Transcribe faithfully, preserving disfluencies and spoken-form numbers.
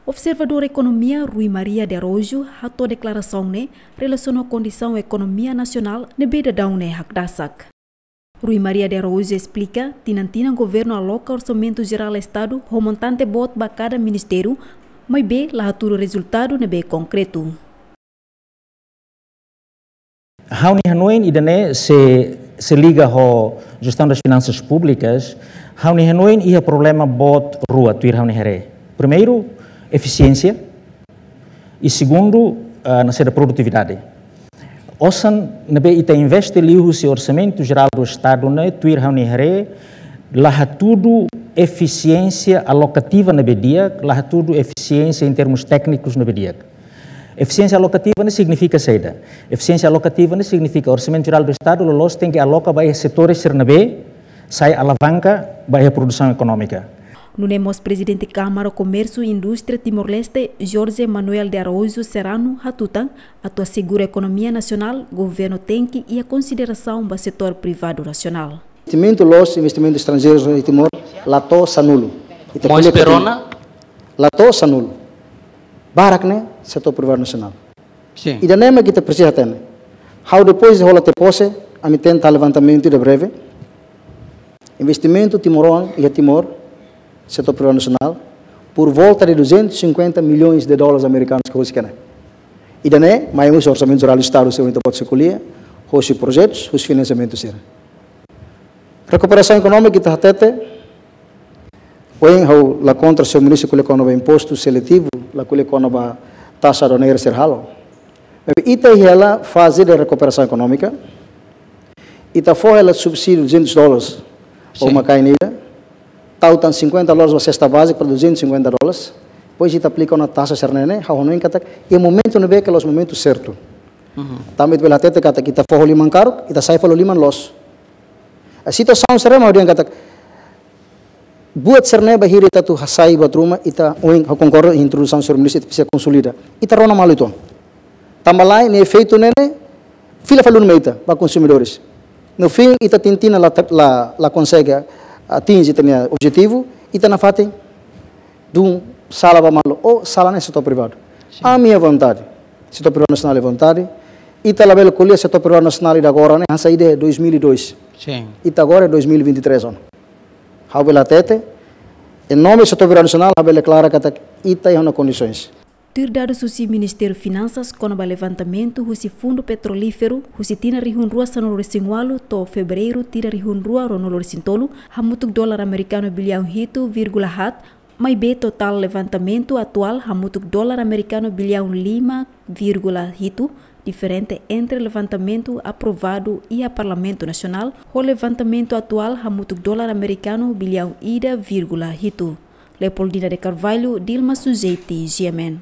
Observadór ekonomia Rui Maria de Araújo hato'o deklarasaun ne'e relasiona ho kondisaun ekonomia nasionál ne'ebé daudaun ne'e hakdasak. Rui Maria de Araújo esplika, tinan-tinan governu aloka Orsamentu Jerál Estadu ho montante boot ba kada ministériu, maibé la hatudu rezultadu ne'ebé konkretu. Ha'u-nia hanoin ida-ne'e se, se liga ho jestaun das finansas públikas, ha'u-nia hanoin iha problema boot rua tuir ha'u-nia haree. Primeiru, efisiénsia, i segundu, ah, nasaida, produtividade. Osan ne'ebé ita investe liuhusi Orsamentu Jerál do Estadu ne'e, tuir ha'u-nia haree, la hatudu efisiénsia alokativa ne'ebé di'ak, la hatudu efisiénsia em termos téknikus ne'ebé di'ak. Efisiénsia alokativa ne'e signifika saida? Efisiénsia alokativa ne'e signifika Orsamentu Jerál do Estadu loloos tenke aloka ba iha setores sira ne'ebé sai alavanka ba iha produsaun ekonómika. Nune'e mós Prezidente Kámara Komérsiu i Indústria Timor-Leste, Jorge Manuel de Araújo Serrano, hatutan, atu asegura ekonomia nasionál, governu tenke iha konsiderasaun ba setór privadu nasionál. Investimentu loos, investimentu estranjeiru iha Timor, la to'o sanulu. Ita Mós ko'alia Perona? La to'o sanulu. Barak ne'e setór privadu nasionál. Sin. Ida-ne'e mak ita presiza hatene. Ha'u depois de hola tiha pose, ami tenta levantamentu ida breve. Investimentu timoroan iha Timor, setór privadu nasionál, por volta de duzentos e cinquenta milhões de dólares americanos ke husi ne'e. Ida-ne'e mai husi Orsamentu Jerál Estadu, se ita pode ko'alia, husi projetus, husi finansiamentu sira. Rekuperasaun ekonómika ita hatete, ohin ha'u la kontra señór ministru ko'alia kona-ba impostu seletivu, la ko'alia kona-ba taxa aduaneira sira halo. Maibé ita iha hela faze de rekuperasaun ekonómika, ita fó hela subsídiu duzentos dólares, ou Sin. makain ida, tau tan cinquenta dólares ba sesta bázika para duzentos e cinquenta dólares, depois ita aplika ona taxa sira-ne'e, ha'u hanoin katak, iha momentu ne'ebé ke la'ós momentu sertu. Mhm. Tanba ita bele hatete katak ita fó ho liman karuk, ita sai fali ho liman loos. A situasaun sira-ne'e mak ha'u dehan katak, buat sira-ne'e bainhira ita atu hasai buat ruma, ita ohin ha'u konkorda introdusaun señór ministru, ita presiza konsolida. Ita rona malu uitoan. Tanba lae, nia efeitu ne'e ne'e, fila fali duni mai ita, ba konsumidores. No fim, ita tinan-tinan la, la, la konsege atinje ita-nia objetivu, ita nafatin dun sala ba malu, ou sala ne'e setór privadu. Sin. Ami iha vontade. Setór privadu nasionál iha vontade. Ita labele ko'alia setór privadu nasionál ida agora ne'e, hanesan ida dois mil e dois. Sin. Ita agora é dois mil e vinte e três ona. Ha'u bele hatete, em nome setór privadu nasionál, ha'u bele deklara katak ita iha ona kondisoens. Tuir dadus husi Ministériu Finansas kona-ba levantamentu husi Fundu Petrolíferu, husi tinan rihun rua sanulu-resin-ualu to'o Fevereiru tinan rihun rua ruanulu-resin-tolu, hamutuk dolar amerikanu biliaun hitu vírgula haat, maibé totál levantamentu atuál hamutuk dolar amerikanu biliaun lima vírgula hitu, diferente entre levantamentu aprovadu iha Parlamentu Nasionál, ho levantamentu atuál hamutuk dolar amerikanu biliaun ida vírgula hitu. Leopoldina de Carvalho, Dilma Sujeiti, G M N.